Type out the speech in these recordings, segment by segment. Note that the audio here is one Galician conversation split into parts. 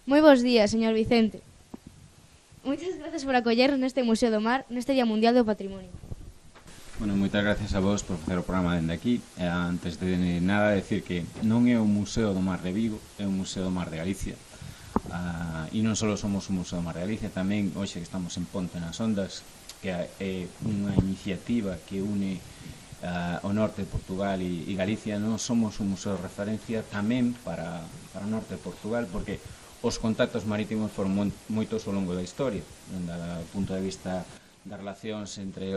Moi bons días, señor Vicente. Moitas grazas por acollernos neste Museo do Mar, neste Día Mundial do Patrimonio. Bueno, moitas gracias a vos por facer o programa dende aquí. Antes de nada, decir que non é o Museo do Mar de Vigo, é o Museo do Mar de Galicia. E non só somos o Museo do Mar de Galicia, tamén hoxe que estamos en Ponte nas Ondas, que é unha iniciativa que une o norte de Portugal e Galicia. Non somos un museo de referencia tamén para o norte de Portugal, porque os contactos marítimos foron moitos ao longo da historia, do punto de vista das relacións entre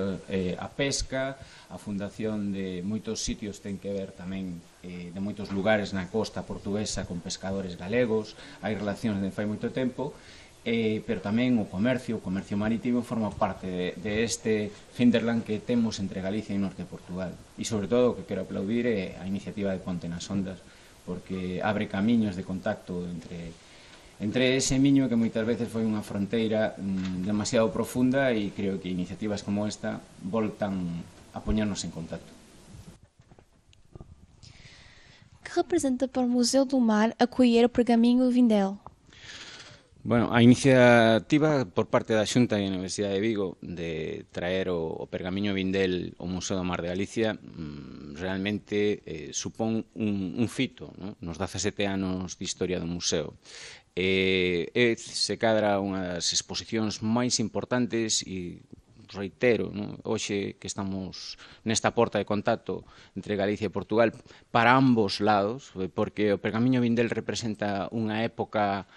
a pesca, a fundación de moitos sitios ten que ver tamén de moitos lugares na costa portuguesa con pescadores galegos, hai relacións de fai moito tempo, pero tamén o comercio marítimo forma parte de este hinterland que temos entre Galicia e norte de Portugal. E sobre todo o que quero aplaudir é a iniciativa de Ponte nas Ondas, porque abre camiños de contacto entre ese miño que moitas veces foi unha fronteira demasiado profunda, e creo que iniciativas como esta voltan a poñernos en contacto. Que representa para o Museu do Mar acolher o Pergaminho Vindel? Bueno, a iniciativa por parte da Xunta e da Universidade de Vigo de traer o Pergamiño Vindel ao Museo do Mar de Galicia realmente supón un fito, ¿no? Nos 17 anos de historia do museo. Se cadra unha das exposicións máis importantes e reitero, ¿no? Hoxe que estamos nesta porta de contacto entre Galicia e Portugal para ambos lados, porque o Pergamiño Vindel representa unha época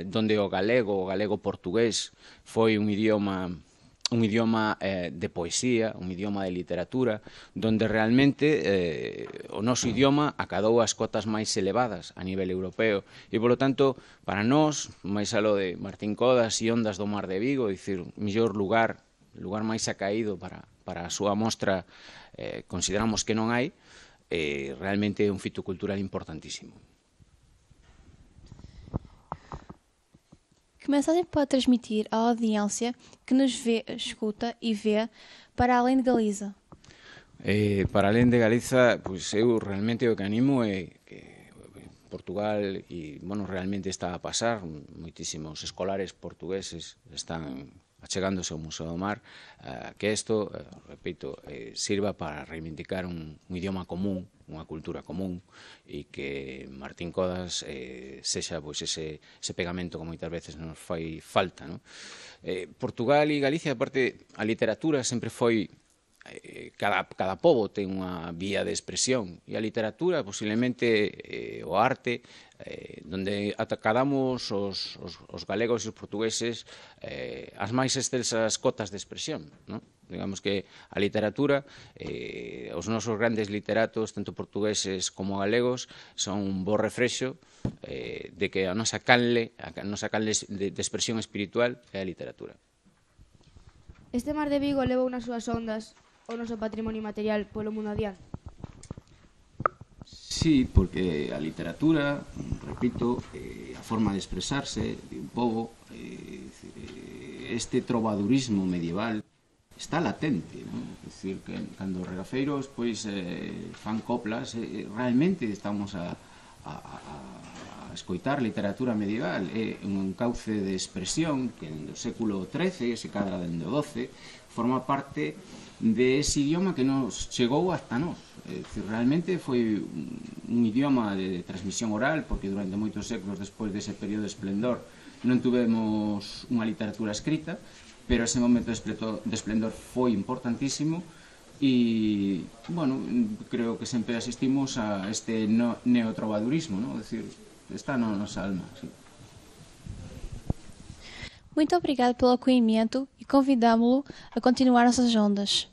donde o galego portugués foi un idioma de poesía, un idioma de literatura, donde realmente o noso idioma acadou as cotas máis elevadas a nivel europeo. E, polo tanto, para nós, máis aló de Martín Codas e Ondas do Mar de Vigo, dicir, o mellor lugar máis acaído para a súa mostra, consideramos que non hai, realmente é un fito cultural importantísimo. Que mensagem pode transmitir à audiência que nos vê, escuta e vê para além de Galiza? Para além de Galiza, pois eu realmente o que animo é que Portugal realmente está a pasar, moitísimos escolares portugueses están achegándose ao Museo do Mar, que isto, repito, sirva para reivindicar un idioma común, unha cultura común, e que Martín Codas sexa ese pegamento que moitas veces nos fai falta. Portugal e Galicia, aparte, a literatura sempre foi, cada pobo ten unha vía de expresión, e a literatura, posiblemente o arte, donde atacadamos os galegos e os portugueses as máis excelsas cotas de expresión. Digamos que a literatura, os nosos grandes literatos, tanto portugueses como galegos, son un bo refrexo de que a nosa canle de expresión espiritual é a literatura. Este Mar de Vigo levou nas súas ondas o noso patrimonio material polo mundo adiante. Sí, porque a literatura, repito, a forma de expresarse de un pobo, este trovadurismo medieval está latente, non? É dicir, que cando os regafeiros fan coplas, realmente estamos a escoitar literatura medieval. É un cauce de expresión que no século XIII, se cadra dende o XII, forma parte de ese idioma que nos chegou hasta nós. É dicir, realmente foi un idioma de transmisión oral, porque durante moitos séculos despois dese período de esplendor non tuvemos unha literatura escrita, pero ese momento de esplendor foi importantísimo e, bueno, creo que sempre asistimos a este neotrovadurismo, é dicir, está na nosa alma. Sí. Muito obrigado pelo acolhimento e convidamo-lo a continuar nossas ondas.